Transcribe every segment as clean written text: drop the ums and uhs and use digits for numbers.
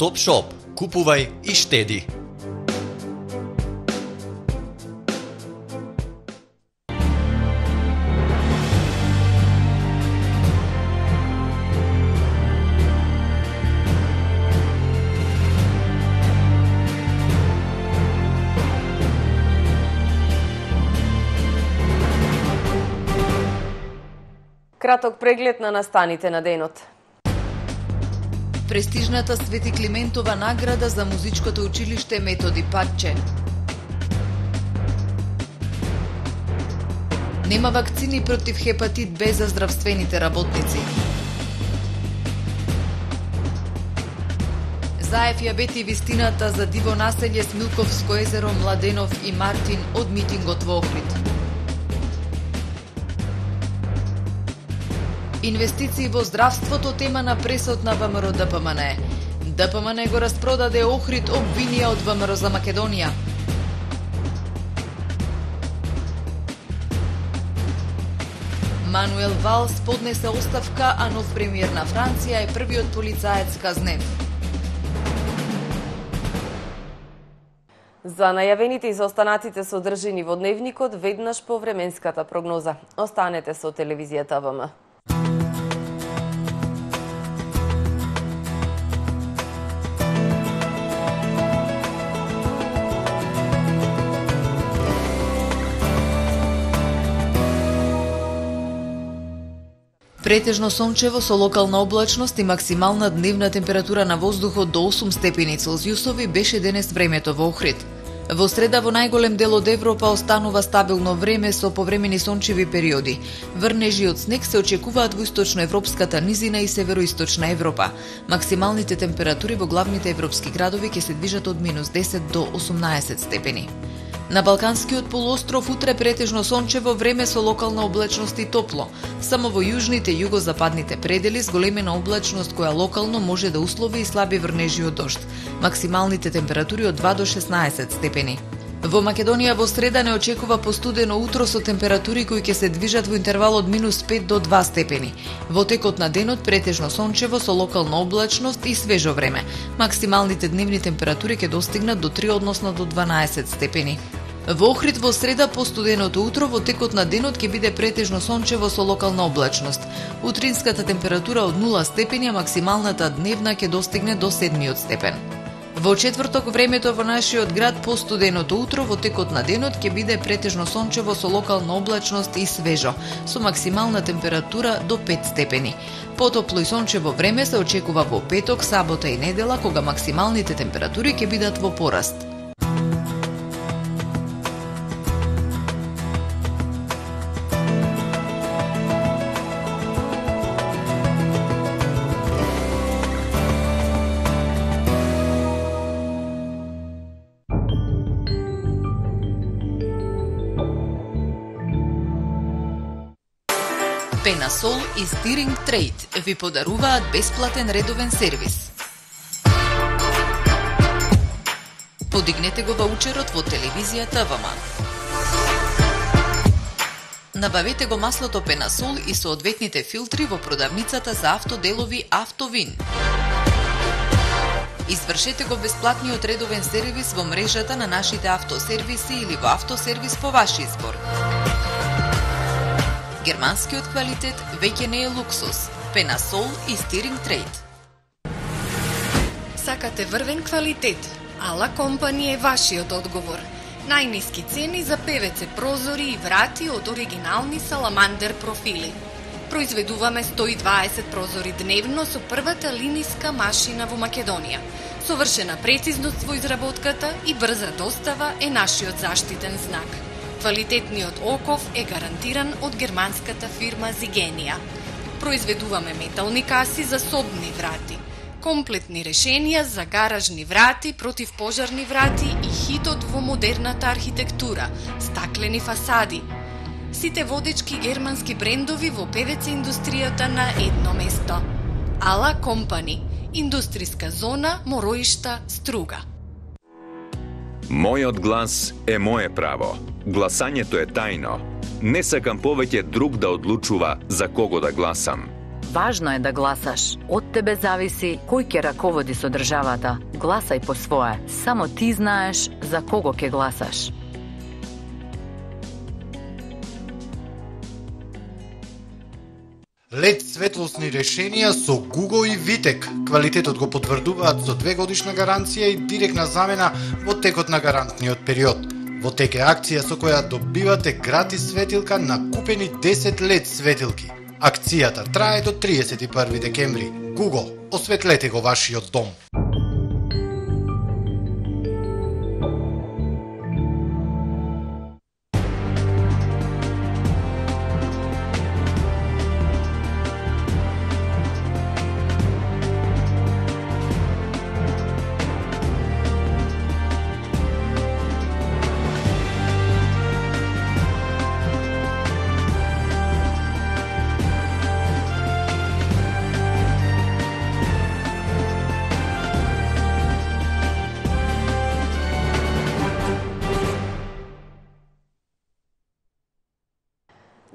Topshop. Купувај и штеди. Краток преглед на настаните на денот. Престижната Свети Климентова награда за музичкото училиште Методи Патче. Нема вакцини против хепатит Б за здравствените работници. Заев ја бети вистината за диво населје Смилковско езеро, Младенов и Мартин од митингот во Охрид. Инвестиции во здравството тема на пресот на ВМРО ДПМН. ДПМН го распродаде Охрид, обвинија од ВМРО за Македонија. Мануел Валс поднесе оставка, а нов премиер на Франција е првиот полицаец казнен. За најавените и за останатите содржини во дневникот веднаш по временската прогноза. Останете со телевизијата ВМ. Претежно сончево со локална облачност и максимална дневна температура на воздухот до 8 степени Целзиусови беше денес времето во Охрид. Во среда во најголем дел од Европа останува стабилно време со повремени сончеви периоди. Врнежи од снег се очекуваат во источноевропската низина и североисточна Европа. Максималните температури во главните европски градови ќе се движат од -10 до 18 степени. На Балканскиот полуостров утре претежно сончево време со локална облачност и топло. Само во јужните и југозападните предели зголемена облачност која локално може да услови и слаби врнежи од дожд. Максималните температури од 2 до 16 степени. Во Македонија во среда не очекува постудено утро со температури кои ќе се движат во интервал од -5 до 2 степени. Во текот на денот претежно сончево со локална облачност и свежо време. Максималните дневни температури ќе достигнат до 3 односно до 12 степени. Во Охрид во среда постуденото утро, во текот на денот ќе биде претежно сончево со локална облачност. Утринската температура од 0 степени, а максималната дневна ќе достигне до 7 степен. Во четврток времето во нашиот град постуденото утро, во текот на денот ќе биде претежно сончево со локална облачност и свежо, со максимална температура до 5 степени. Потопло и сончево време се очекува во петок, сабота и недела, кога максималните температури ќе бидат во пораст. Пенасол и Стиринг Трейд ви подаруваат бесплатен редовен сервис. Подигнете го ваучерот во телевизијата ВМ. Набавете го маслото Пенасол и соодветните филтри во продавницата за автоделови Автовин. Извршете го бесплатниот редовен сервис во мрежата на нашите автосервиси или во автосервис по ваш избор. Германскиот квалитет веќе не е луксус. Пенасол и Стиринг Трейд. Сакате врвен квалитет? Ала Компани е вашиот одговор. Најниски цени за ПВЦ прозори и врати од оригинални Саламандер профили. Произведуваме 120 прозори дневно со првата линиска машина во Македонија. Совршена прецизност во изработката и брза достава е нашиот заштитен знак. Квалитетниот оков е гарантиран од германската фирма Зигенија. Произведуваме метални каси за собни врати, комплетни решенија за гаражни врати, противпожарни врати и хитот во модерната архитектура, стаклени фасади. Сите водечки германски брендови во ПВЦ индустријата на едно место. Ала Компани, индустријска зона Мороишта, Струга. Мојот глас е мое право. Гласањето е тајно. Не сакам повеќе друг да одлучува за кого да гласам. Важно е да гласаш. Од тебе зависи кој ќе раководи со државата. Гласај по свое. Само ти знаеш за кого ќе гласаш. LED светлосни решенија со Google и Vitec. Квалитетот го потврдуваат со 2-годишна гаранција и директна замена во текот на гарантниот период. Во тек е акција со која добивате гратис светилка на купени 10 LED светилки. Акцијата трае до 31 декември. Google, осветлете го вашиот дом.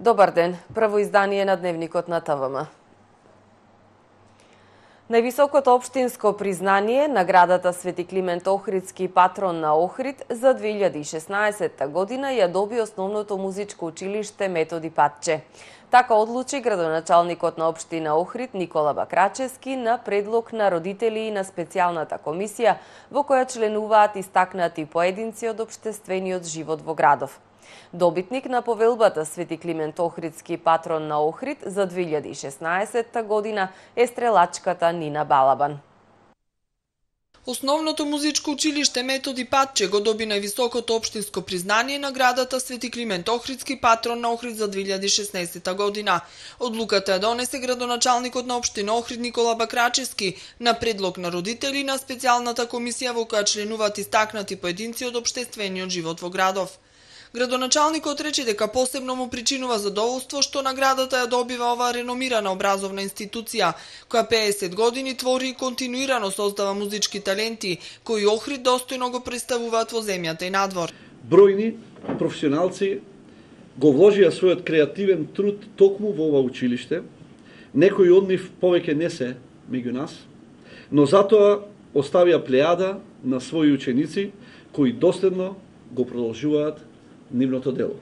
Добар ден, прво издание на Дневникот на ТВМ. Највисокото општинско признание, наградата Свети Климент Охридски патрон на Охрид за 2016 година ја доби Основното музичко училиште Методи Патче. Така одлучи градоначалникот на општина Охрид Никола Бакрачевски на предлог на родители и на специјалната комисија во која членуваат истакнати поединци од општествениот живот во градов. Добитник на повелбата Свети Климент Охридски патрон на Охрид за 2016 година е стрелачката Нина Балабан. Основното музичко училиште Методи Патче го доби највисокото општинско признание наградата Свети Климент Охридски патрон на Охрид за 2016 година. Одлуката ја донесе градоначалникот на општина Охрид Никола Бакрачевски на предлог на родители на специјалната комисија во која членуваат истакнати поединци од општествениот живот во градов. Градоначалникот рече дека посебно му причинува задоволство што наградата ја добива оваа реномирана образовна институција, која 50 години твори и континуирано создава музички таленти, кои Охрид достојно го представуваат во земјата и надвор. Бројни професионалци го вложија својот креативен труд токму во ова училиште. Некои од нив повеќе не се меѓу нас, но затоа оставија плејада на своји ученици кои доследно го продолжуваат нивното дело.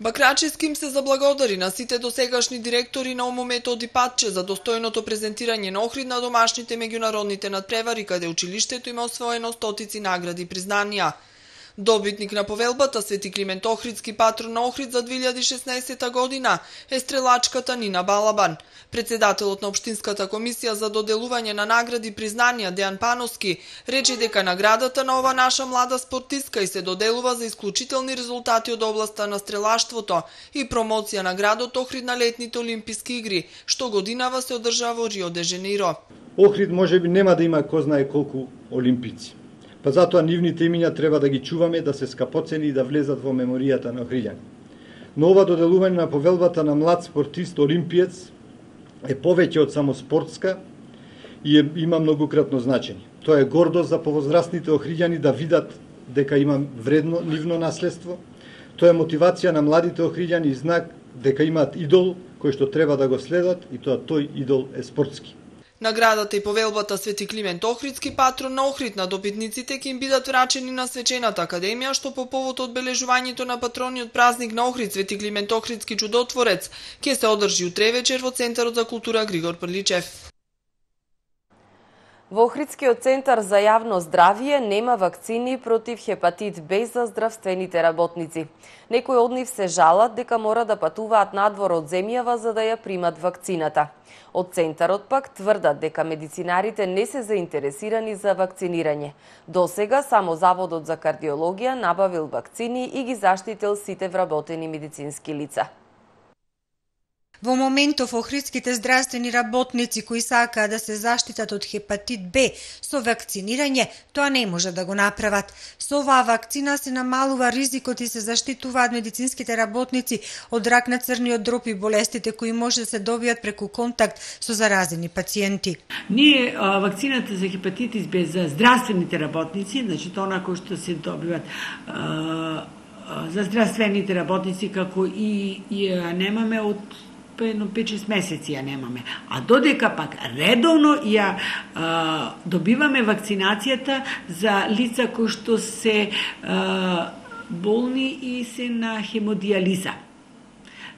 Бакрачевски им се заблагодари на сите досегашни директори на ОМО Методи Патче за достојното презентирање на Охрид на домашните меѓународните надпревари, каде училиштето има освоено стотици награди и признанија. Добитник на повелбата Свети Климент Охридски патрон на Охрид за 2016 година е стрелачката Нина Балабан. Председателот на Општинската комисија за доделување на награди и признанија Дејан Пановски рече дека наградата на ова наша млада спортистка и се доделува за исклучителни резултати од областа на стрелаштвото и промоција на градот Охрид на летните олимписки игри, што годинава се одржава во Рио де Женеиро. Охрид можеби нема да има кој знае колку олимпици. Па затоа нивните имиња треба да ги чуваме, да се скапоцени и да влезат во меморијата на охриѓани. Но ова доделување на повелбата на млад спортист олимпиец е повеќе од само спортска и има многократно значење. Тоа е гордост за повозрастните охриѓани да видат дека има вредно нивно наследство. Тоа е мотивација на младите охриѓани и знак дека имаат идол кој што треба да го следат и тој идол е спортски. Наградата и повелбата Свети Климент Охридски патрон на Охрид на добитниците ќе им бидат врачени на Свечената академија, што по повод одбележувањето на патрониот празник на Охрид Свети Климент Охридски чудотворец ќе се одржи утре вечер во Центарот за култура Григор Прличев. Во Охридскиот центар за јавно здравје нема вакцини против хепатит Б за здравствените работници. Некои од нив се жалат дека мора да патуваат надвор од земјава за да ја примат вакцината. Од центарот пак тврдат дека медицинарите не се заинтересирани за вакцинирање. Досега само Заводот за кардиологија набавил вакцини и ги заштитил сите вработени медицински лица. Во моментов охридските здравствени работници кои сакаат да се заштитат од хепатит Б со вакцинирање, тоа не може да го направат. Со оваа вакцина се намалува ризикот и се заштитуваат медицинските работници од рак на црниот дроб и болестите кои може да се добијат преку контакт со заразени пациенти. Ние вакцината за хепатитис Б за здравствените работници, значи тоа кои што се добиваат за здравствените работници како и ја немаме од едно 5-6 месеци ја немаме. А додека пак редовно ја добиваме вакцинацијата за лица кои што се болни и се на хемодиализа.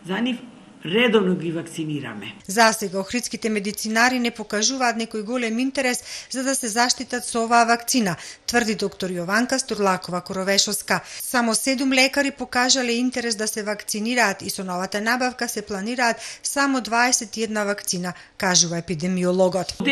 За нив редовно ги вакцинираме. За сега охридските медицинари не покажуваат некој голем интерес за да се заштитат со оваа вакцина, тврди доктор Јованка Стурлакова-Коровешовска. Само 7 лекари покажале интерес да се вакцинираат и со новата набавка се планираат само 21 вакцина, кажува епидемиологот.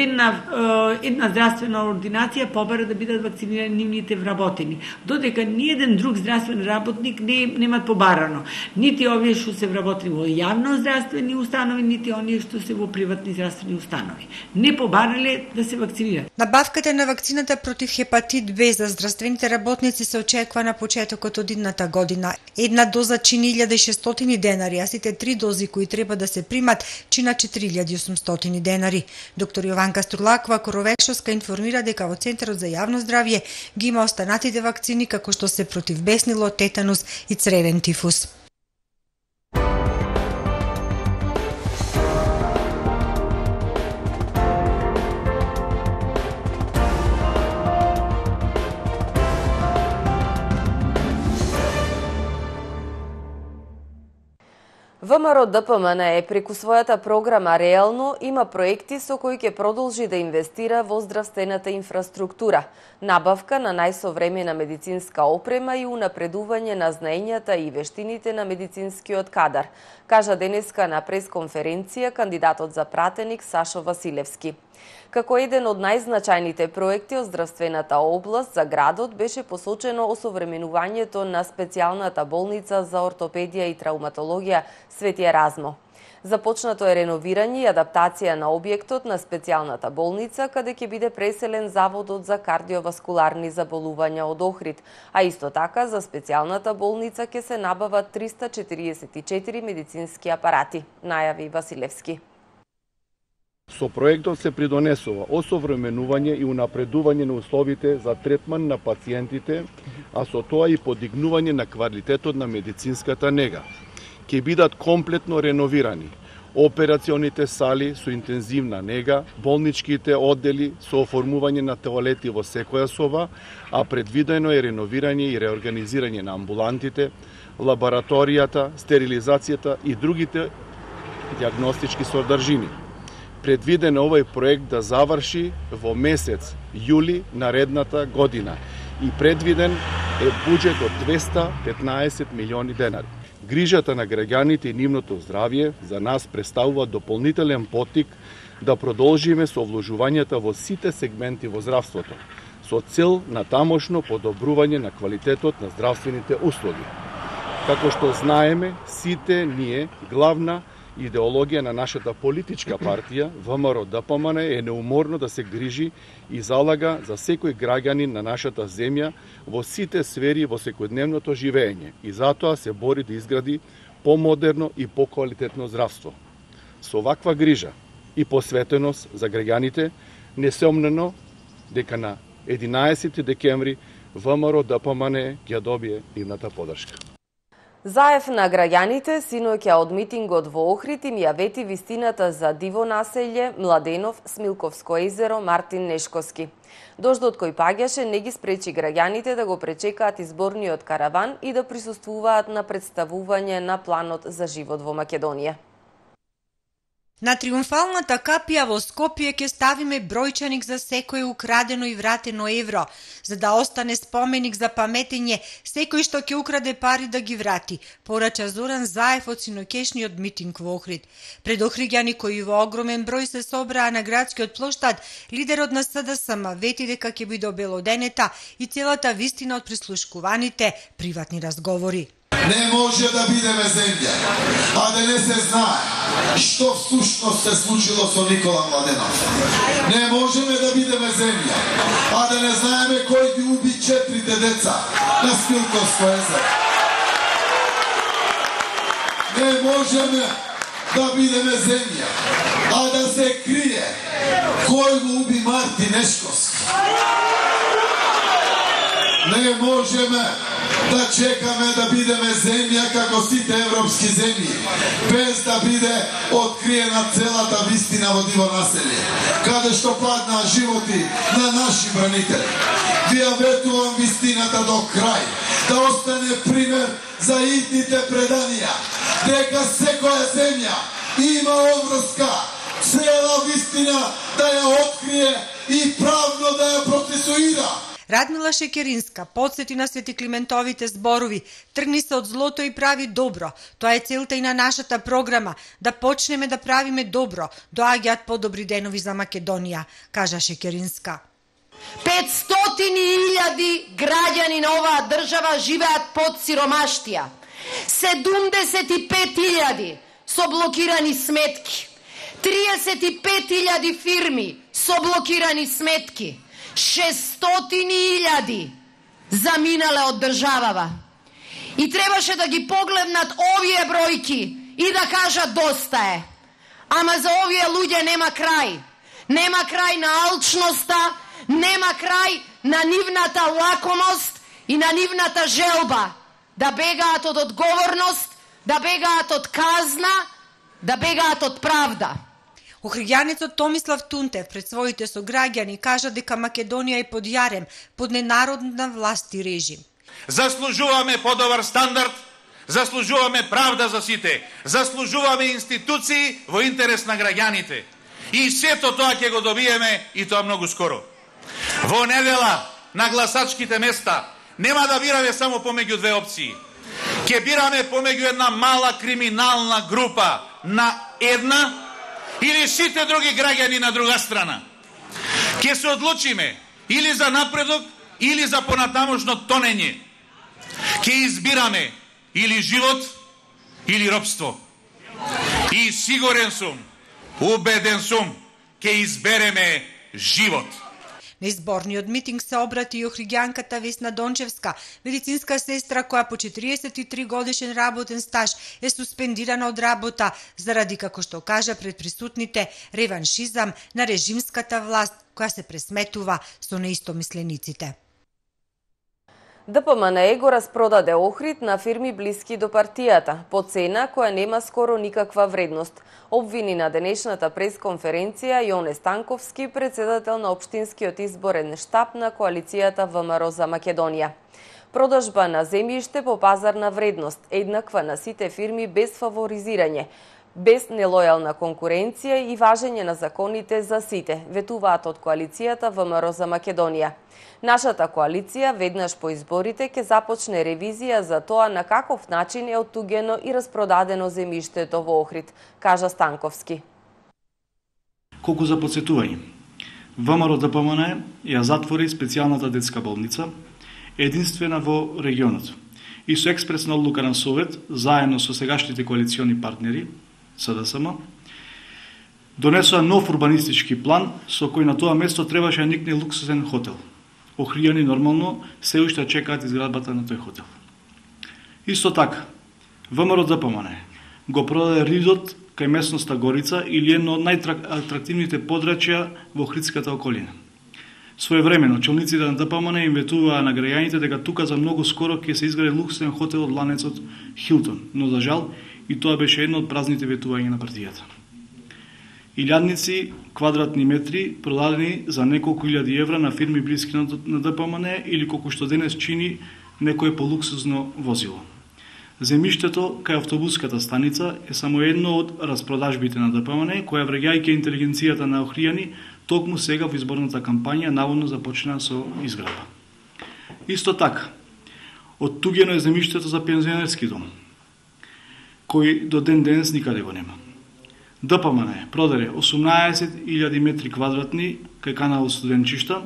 Една здравствена ординација побара да бидат вакцинирани нивните вработени. Додека ниеден друг здравствен работник немат побарано. Нити овие што се вработени во јавно здравствени установи, нити оние што се во приватни здравствени установи. Не побарале да се вакцинираат. Набавката на вакцината против хепатит Б за здравствените работници се очекува на почетокот од идната година. Една доза чини 1600 денари, а сите 3 дози кои треба да се примат чинат 4800 денари. Доктор Јованка Стурлакова-Коровешовска информира дека во Центарот за јавно здравје ги има останатите вакцини како што се против беснило, тетанус и цревен тифус. ВМРО-ДПМН преку својата програма Реално има проекти со кои ќе продолжи да инвестира во здравствената инфраструктура, набавка на најсовремена медицинска опрема и унапредување на знаењата и вештините на медицинскиот кадар, кажа денеска на пресконференција кандидатот за пратеник Сашо Василевски. Како еден од најзначајните проекти од здравствената област за градот беше посочено осовременувањето на специјалната болница за ортопедија и травматологија Свети Еразмо. Започнато е реновирање и адаптација на објектот на специјалната болница, каде ќе биде преселен заводот за кардиоваскуларни заболувања од Охрид, а исто така за специјалната болница ќе се набават 344 медицински апарати, најави Василевски. Со проектот се придонесува осовременување и унапредување на условите за третман на пациентите, а со тоа и подигнување на квалитетот на медицинската нега. Ќе бидат комплетно реновирани операционите сали со интензивна нега, болничките оддели со оформување на тоалети во секоја соба, а предвидено е реновирање и реорганизирање на амбулантите, лабораторијата, стерилизацијата и другите диагностички содржини. Предвиден е овој проект да заврши во месец јули наредната година и предвиден е буџет од 215 милиони денари. Грижата на граѓаните и нивното здравје за нас представува дополнителен поттик да продолжиме со вложувањата во сите сегменти во здравството, со цел на тамошно подобрување на квалитетот на здравствените услуги. Како што знаеме, сите ние, главна идеологија на нашата политичка партија, ВМРО-ДПМН, е неуморно да се грижи и залага за секој граѓанин на нашата земја во сите сфери во секојдневното живење и затоа се бори да изгради помодерно и поквалитетно здравство. Со ваква грижа и посветеност за граѓаните, несомнено дека на 11 декември ВМРО-ДПМН ќе добие нивната поддршка. Заев на граѓаните синоќа од митингот во Охрид им ја вети вистината за Диво населје, Младенов, Смилковско езеро, Мартин Нешковски. Дождот кој паѓаше не ги спречи граѓаните да го пречекаат изборниот караван и да присуствуваат на представување на планот за живот во Македонија. На триумфалната капија во Скопје ќе ставиме бројчаник за секој украдено и вратено евро, за да остане споменик за паметење секој што ќе украде пари да ги врати, порача Зоран Заев од синоќешниот митинг во Охрид. Пред охриѓани кои во огромен број се собраа на градскиот плоштад, лидерот на СДСМ вети дека ќе биде обелоденета и целата вистина од прислушкуваните приватни разговори. Не може да бидеме земја, а да не се знае што всушност се случило со Никола Младенов. Не можеме да бидеме земја, а да не знаеме кој ги уби 4 деца на Смилковско езеро. Не можеме да бидеме земја, а да се крие кој го уби Мартин Нешковски. Не можеме да чекаме да бидеме земја како сите европски земји, без да биде откриена целата вистина во диво населје, каде што паднаа животи на наши бранители. Ви ветувам вистината до крај, да остане пример за идните преданија, дека секоја земја има обврска, цела вистина да ја открие и правно да ја процесуира. Радмила Шекеринска подсети на Свети Климентовите зборови: тргни се од злото и прави добро. Тоа е целта и на нашата програма, да почнеме да правиме добро. Доаѓаат подобри денови за Македонија, кажа Шекеринска. 500.000 граѓани на оваа држава живеат под сиромаштија. 75.000 со блокирани сметки. 35.000 фирми со блокирани сметки. 600.000 заминале од државава. И требаше да ги погледнат овие бројки и да кажат доста е. Ама за овие луѓе нема крај. Нема крај на алчноста, нема крај на нивната лакомост и на нивната желба да бегаат од одговорност, да бегаат од казна, да бегаат од правда. Охриѓанецот Томислав Тунтев пред своите сограѓани кажа дека Македонија е под јарем, под ненародна власт и режим. Заслужуваме подобар стандард, заслужуваме правда за сите, заслужуваме институции во интерес на граѓаните. И сето тоа ќе го добиеме и тоа многу скоро. Во недела на гласачките места нема да бираме само помеѓу две опции. Ќе бираме помеѓу една мала криминална група на една или сите други граѓани на друга страна. Ќе се одлучиме или за напредок, или за понатамошно тонење. Ќе избираме или живот, или робство. И сигурен сум, убеден сум, ќе избереме живот. На изборниот митинг се обрати и охриѓанката Весна Дончевска, медицинска сестра која по 43 годишен работен стаж е суспендирана од работа заради, како што кажа пред присутните, реваншизам на режимската власт која се пресметува со неистомислениците. ДПМНЕ го распродаде Охрид на фирми блиски до партијата, по цена која нема скоро никаква вредност, обвини на денешната пресконференција Јоне Станковски, председател на Општинскиот изборен штаб на коалицијата ВМРО за Македонија. Продажба на земјиште по пазарна вредност, еднаква на сите фирми без фаворизирање, без нелојална конкуренција и важење на законите за сите, ветуваат од коалицијата ВМРО за Македонија. Нашата коалиција веднаш по изборите ќе започне ревизија за тоа на каков начин е оттугено и распродадено земјиштето во Охрид, кажа Станковски. Колку за подсетување, ВМРО ДПМНЕ ја затвори специјалната детска болница, единствена во регионот, и со експресна одлука на Совет, заедно со сегашните коалициони партнери, СДСМ, донесоа нов урбанистички план со кој на тоа место требаше да никне луксузен хотел. Охријани нормално се уште чекаат изградбата на тој хотел. Исто така, ВМРО ДПМНЕ го продаде Ридот кај местноста Горица или едно од најатрактивните подрачја во Охридската околина. Своевремено, челниците на ДПМНЕ им ветуваа на граѓаните дека тука за многу скоро ќе се изгради луксузен хотел од ланецот Хилтон, но за жал и тоа беше едно од празните ветувања на партијата. Илјадници квадратни метри продадени за неколку илјади евра на фирми блиски на ДПМНЕ или колку што денес чини некое полуксузно возило. Земјиштето кај автобуската станица е само едно од распродажбите на ДПМНЕ, која враѓајќи интелигенцијата на охријани, токму сега во изборната кампања наводно започна со изградба. Исто така, оттугено е земјиштето за пензионерски дом, кој до ден денес никаде го нема. ДПМНЕ продаде 18.000 метри квадратни кај канал Студенчишта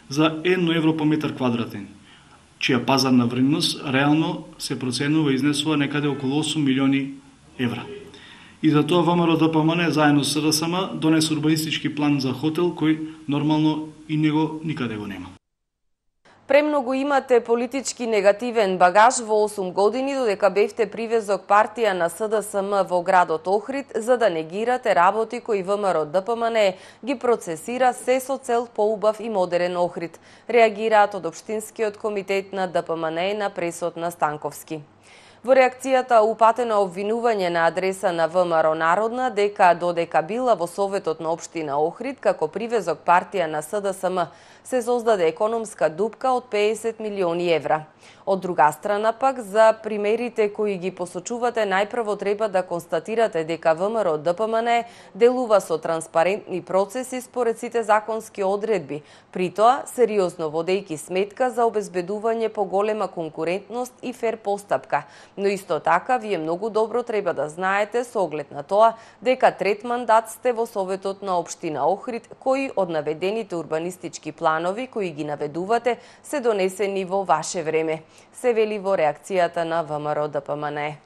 за 1 евро по метар квадратен, чија пазарна вредност реално се проценува и изнесува некаде околу 8 милиони евра. И за тоа ВМРО ДПМНЕ заедно со СДСМ донесе урбанистички план за хотел кој нормално и него никаде го нема. Премногу имате политички негативен багаж во 8 години додека бевте привезок партија на СДСМ во градот Охрид за да негирате работи кои ВМРО ДПМН ги процесира се со цел поубав и модерен Охрид. Реагираат од Општинскиот комитет на ДПМН на пресот на Станковски. Во реакцијата упатено обвинување на адреса на ВМРО Народна дека додека била во Советот на Општина Охрид како привезок партија на СДСМ се создаде економска дупка од 50 милиони евра. Од друга страна пак, за примерите кои ги посочувате, најпрво треба да констатирате дека ВМРО ДПМН делува со транспарентни процеси според сите законски одредби, притоа сериозно водејќи сметка за обезбедување поголема конкурентност и фер постапка. Но исто така, вие многу добро треба да знаете со оглед на тоа дека трет мандат сте во Советот на Општина Охрид, кои од наведените урбанистички планови кои ги наведувате се донесени во ваше време, се вели во реакцијата на ВМРО ДПМН.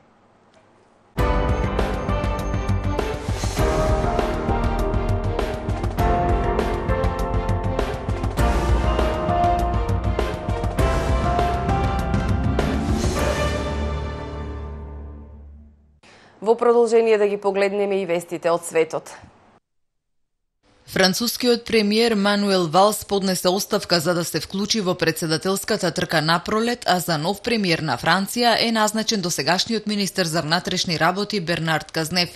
Во продолжение да ги погледнеме и вестите од светот. Францускиот премиер Мануел Валс поднесе оставка за да се вклучи во председателската трка напролет, а за нов премиер на Франција е назначен досегашниот министер за внатрешни работи Бернард Казнев.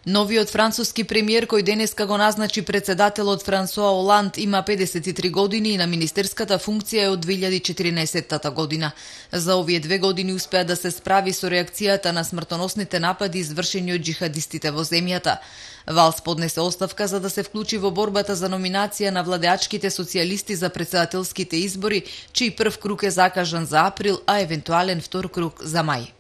Новиот француски премиер кој денеска го назначи председателот Франсуа Оланд има 53 години и на министерската функција е од 2014 година. За овие 2 години успеа да се справи со реакцијата на смртоносните напади извршени од џихадистите во земјата. Валс поднесе оставка за да се вклучи во борбата за номинација на владеачките социјалисти за претседателските избори, чиј прв круг е закажан за април, а евентуален втор круг за мај.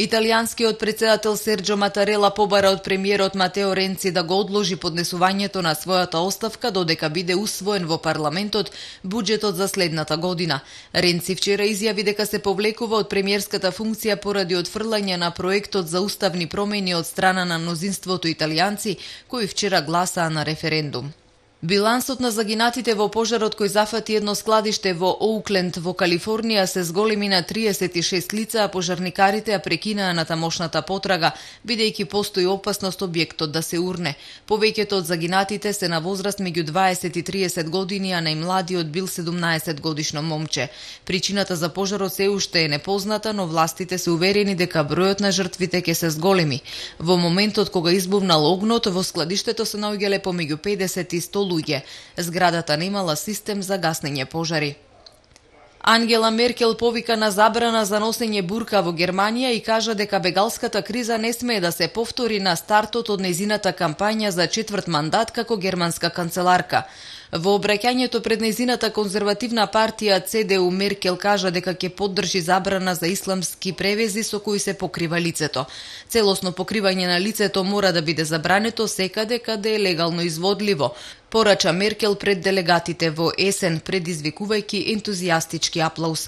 Италијанскиот претседател Серджо Матарела побара од премиерот Матео Ренци да го одложи поднесувањето на својата оставка додека биде усвоен во парламентот буџетот за следната година. Ренци вчера изјави дека се повлекува од премиерската функција поради отфрлање на проектот за уставни промени од страна на мнозинството италијанци кои вчера гласаа на референдум. Билансот на загинатите во пожарот кој зафати едно складиште во Оукленд во Калифорнија се зголеми на 36 лица, а пожарникарите ја прекинаа на тамошната потрага, бидејќи постои опасност објектот да се урне. Повеќето од загинатите се на возраст меѓу 20 и 30 години, а најмладиот бил 17 годишно момче. Причината за пожарот се уште е непозната, но властите се уверени дека бројот на жртвите ќе се зголеми. Во моментот кога избувнал огнот, во складиштето се наоѓале помеѓу 50 и 100 луѓе. Зградата немала систем за гаснење пожари. Ангела Меркел повика на забрана за носење бурка во Германија и кажа дека бегалската криза не смее да се повтори на стартот од нејзината кампања за четврт мандат како германска канцеларка. Во обраќањето пред нејзината конзервативна партија ЦДУ Меркел кажа дека ќе поддржи забрана за исламски превези со кои се покрива лицето. Целосно покривање на лицето мора да биде забрането секаде каде е легално изводливо, порача Меркел пред делегатите во есен, предизвикувајќи ентузијастички аплауз.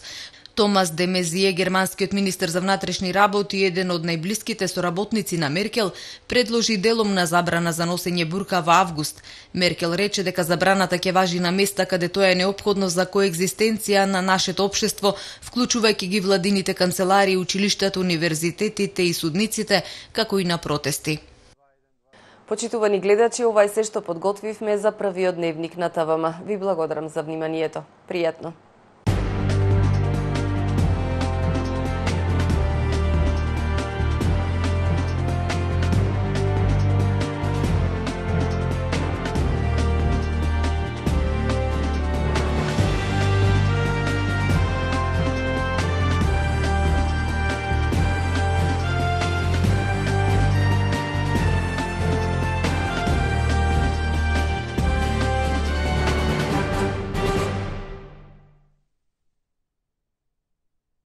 Томас де Мезие, германскиот министер за внатрешни работи, еден од најблиските соработници на Меркел, предложи деломна забрана за носење бурка во август. Меркел рече дека забраната ќе важи на места каде тоа е неопходно за коегзистенција на нашето општество, вклучувајќи ги владините канцелари, училиштата, универзитетите и судниците, како и на протести. Почитувани гледачи, ова е се што подготвивме за првиот дневник на ТВМ. Ви благодарам за вниманието. Пријатно.